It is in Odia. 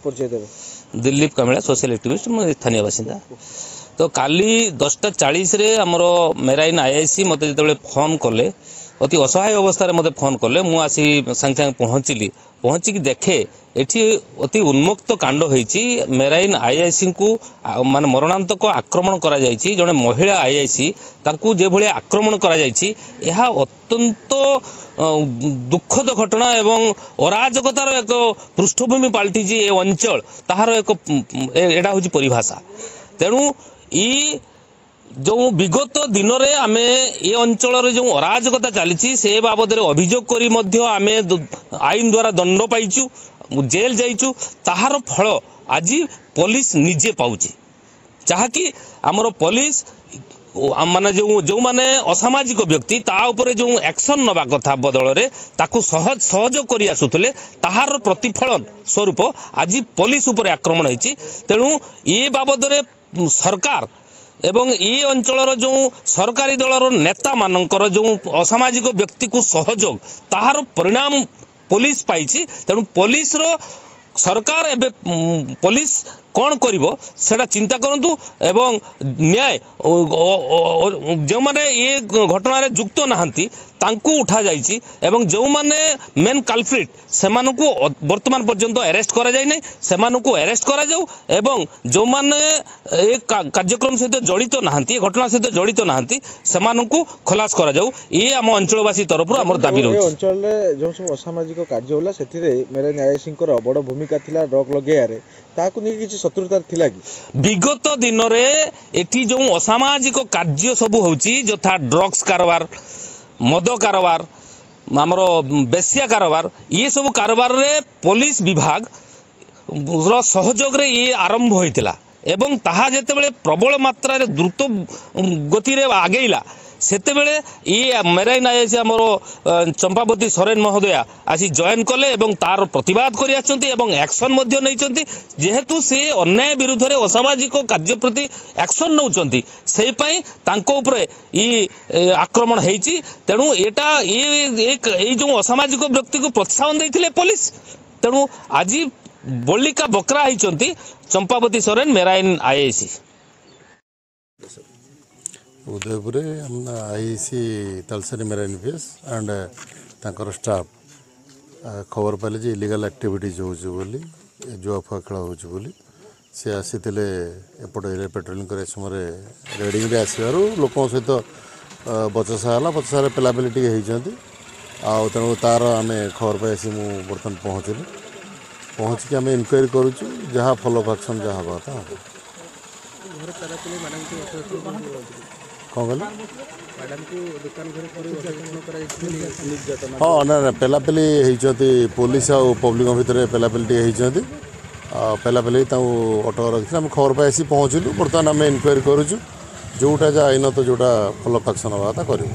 ପରିଚୟ ଦେବେ। ଦିଲ୍ଲୀପ କାମିଳା, ସୋସିଆଲ ଆକ୍ଟିଭିଷ୍ଟ, ମୁଁ ସ୍ଥାନୀୟ ବାସିନ୍ଦା। ତ କାଲି 10:40ରେ ଆମର ମେରାଇନ୍ ଆଇଆଇସି ମୋତେ ଯେତେବେଳେ ଫୋନ୍ କଲେ, ଅତି ଅସହାୟ ଅବସ୍ଥାରେ ମୋତେ ଫୋନ୍ କଲେ, ମୁଁ ଆସି ସାଙ୍ଗେ ସାଙ୍ଗେ ପହଞ୍ଚିଲି। ପହଞ୍ଚିକି ଦେଖେ ଏଠି ଅତି ଉନ୍ମୁକ୍ତ କାଣ୍ଡ ହେଇଛି। ମେରାଇନ୍ ଆଇଆଇସିଙ୍କୁ ମାନେ ମରଣାନ୍ତକ ଆକ୍ରମଣ କରାଯାଇଛି। ଜଣେ ମହିଳା ଆଇଆଇସି, ତାଙ୍କୁ ଯେଭଳି ଆକ୍ରମଣ କରାଯାଇଛି, ଏହା ଅତ୍ୟନ୍ତ ଦୁଃଖଦ ଘଟଣା ଏବଂ ଅରାଜକତାର ଏକ ପୃଷ୍ଠଭୂମି ପାଲଟିଛି ଏ ଅଞ୍ଚଳ, ତାହାର ଏକ ଏଇଟା ହେଉଛି ପରିଭାଷା। ତେଣୁ ଇ ଯେଉଁ ବିଗତ ଦିନରେ ଆମେ ଏ ଅଞ୍ଚଳରେ ଯେଉଁ ଅରାଜକତା ଚାଲିଛି, ସେ ବାବଦରେ ଅଭିଯୋଗ କରି ମଧ୍ୟ ଆମେ ଆଇନ ଦ୍ୱାରା ଦଣ୍ଡ ପାଇଛୁ, ଜେଲ୍ ଯାଇଛୁ, ତାହାର ଫଳ ଆଜି ପୋଲିସ ନିଜେ ପାଉଛି। ଯାହାକି ଆମର ପୋଲିସ ମାନେ ଯେଉଁ ଯେଉଁମାନେ ଅସାମାଜିକ ବ୍ୟକ୍ତି, ତା ଉପରେ ଯେଉଁ ଆକ୍ସନ୍ ନେବା କଥା ବଦଳରେ ତାକୁ ସହଯୋଗ କରି ଆସୁଥିଲେ, ତାହାର ପ୍ରତିଫଳନ ସ୍ୱରୂପ ଆଜି ପୋଲିସ ଉପରେ ଆକ୍ରମଣ ହେଇଛି। ତେଣୁ ଏ ବାବଦରେ ସରକାର ଏବଂ ଏ ଅଞ୍ଚଳର ଯେଉଁ ସରକାରୀ ଦଳର ନେତାମାନଙ୍କର ଯେଉଁ ଅସାମାଜିକ ବ୍ୟକ୍ତିକୁ ସହଯୋଗ, ତାହାର ପରିଣାମ ପୋଲିସ ପାଇଛି। ତେଣୁ ପୋଲିସର ସରକାର ଏବେ ପୋଲିସ କ'ଣ କରିବ ସେଟା ଚିନ୍ତା କରନ୍ତୁ ଏବଂ ନ୍ୟାୟ, ଯେଉଁମାନେ ଏ ଘଟଣାରେ ଯୁକ୍ତ ନାହାନ୍ତି ତାଙ୍କୁ ଉଠାଯାଇଛି ଏବଂ ଯେଉଁମାନେ ମେନ୍ କାଲପ୍ରିଟ୍ ସେମାନଙ୍କୁ ବର୍ତ୍ତମାନ ପର୍ଯ୍ୟନ୍ତ ଆରେଷ୍ଟ କରାଯାଇ ନାହିଁ, ସେମାନଙ୍କୁ ଆରେଷ୍ଟ କରାଯାଉ ଏବଂ ଯେଉଁମାନେ ଏ କାର୍ଯ୍ୟକ୍ରମ ସହିତ ଜଡ଼ିତ ନାହାନ୍ତି, ଏ ଘଟଣା ସହିତ ଜଡ଼ିତ ନାହାନ୍ତି, ସେମାନଙ୍କୁ ଖଲାସ କରାଯାଉ। ଇଏ ଆମ ଅଞ୍ଚଳବାସୀ ତରଫରୁ ଆମର ଦାବି ରହୁଛି। ଅଞ୍ଚଳରେ ଯେଉଁ ସବୁ ଅସାମାଜିକ କାର୍ଯ୍ୟ ହେଲା, ସେଥିରେ ମେରାଇନ୍ ଆଇଆଇସିଙ୍କର ବଡ଼ ଭୂମିକା ଥିଲା ଡ୍ରଗ୍ ଲଗେଇବାରେ, ତାହାକୁ ନେଇ କିଛି ଶତ୍ରୁତା ଥିଲା କି? ବିଗତ ଦିନରେ ଏଠି ଯେଉଁ ଅସାମାଜିକ କାର୍ଯ୍ୟ ସବୁ ହେଉଛି, ଯଥା ଡ୍ରଗ୍ସ କାରବାର, ମଦ କାରବାର, ଆମର ବେଶ୍ୟା କାରବାର, ଇଏ ସବୁ କାରବାରରେ ପୋଲିସ ବିଭାଗ ର ସହଯୋଗରେ ଇଏ ଆରମ୍ଭ ହୋଇଥିଲା ଏବଂ ତାହା ଯେତେବେଳେ ପ୍ରବଳ ମାତ୍ରାରେ ଦ୍ରୁତ ଗତିରେ ଆଗେଇଲା, ସେତେବେଳେ ଇଏ ମେରାଇନ୍ ଆଇଆଇସି ଆମର ଚମ୍ପାବତୀ ସରେନ ମହୋଦୟା ଆସି ଜଏନ୍ କଲେ ଏବଂ ତାର ପ୍ରତିବାଦ କରି ଆସିଛନ୍ତି ଏବଂ ଆକ୍ସନ୍ ମଧ୍ୟ ନେଇଛନ୍ତି। ଯେହେତୁ ସେ ଅନ୍ୟାୟ ବିରୁଦ୍ଧରେ ଅସାମାଜିକ କାର୍ଯ୍ୟ ପ୍ରତି ଆକ୍ସନ୍ ନେଉଛନ୍ତି, ସେଇ ପାଇଁ ତାଙ୍କ ଉପରେ ଇ ଆକ୍ରମଣ ହେଇଛି। ତେଣୁ ଏଇଟା ଏଇ ଯେଉଁ ଅସାମାଜିକ ବ୍ୟକ୍ତିକୁ ପ୍ରୋତ୍ସାହନ ଦେଇଥିଲେ ପୋଲିସ, ତେଣୁ ଆଜି ବଳିକା ବକରା ହେଇଛନ୍ତି ଚମ୍ପାବତୀ ସରେନ, ମେରାଇନ୍ ଆଇଆଇସି। ଉଦୟପୁରରେ IIC Talsari marine PS and ତାଙ୍କର ଷ୍ଟାଫ୍ ଖବର ପାଇଲେ ଯେ ଇଲିଗାଲ୍ ଆକ୍ଟିଭିଟିଜ୍ ହେଉଛି ବୋଲି, ଜୁଆ ଫୁଆ ଖେଳ ହେଉଛି ବୋଲି। ସେ ଆସିଥିଲେ ଏପଟ ଏରିଆ ପେଟ୍ରୋଲିଂ କରିବା ସମୟରେ ରେଡ଼ିଂରେ ଆସିବାରୁ ଲୋକଙ୍କ ସହିତ ବଚସା ହେଲା। ବଚସାରେ ପେଲାପେଲି ଟିକେ ହେଇଛନ୍ତି ଆଉ ତେଣୁ ତା'ର ଆମେ ଖବର ପାଇ ଆସି ମୁଁ ବର୍ତ୍ତମାନ ପହଞ୍ଚିଲି। ପହଞ୍ଚିକି ଆମେ ଇନକ୍ୱାରି କରୁଛୁ, ଯାହା ଫଲୋଅପ୍ ଆକ୍ସନ୍ ଯାହା ହେବା କଥା ହେବ। କ'ଣ କହିଲେ? ହଁ, ନା ନା, ପେଲାପେଲି ହେଇଛନ୍ତି, ପୋଲିସ ଆଉ ପବ୍ଲିକଙ୍କ ଭିତରେ ପେଲାପେଲି ଟିକେ ହେଇଛନ୍ତି ଆଉ ପେଲାପେଲି ତାଙ୍କୁ ଅଟକ ରଖିଥିଲେ। ଆମେ ଖବର ପାଇ ଆସି ପହଞ୍ଚିଲୁ। ବର୍ତ୍ତମାନ ଆମେ ଇନକ୍ୱାରି କରୁଛୁ, ଯେଉଁଟା ଯାହା ଆଇନତ ଯେଉଁଟା ଫଲୋଅପ୍ ଆକ୍ସନ୍ ହେବା କଥା କରିବୁ।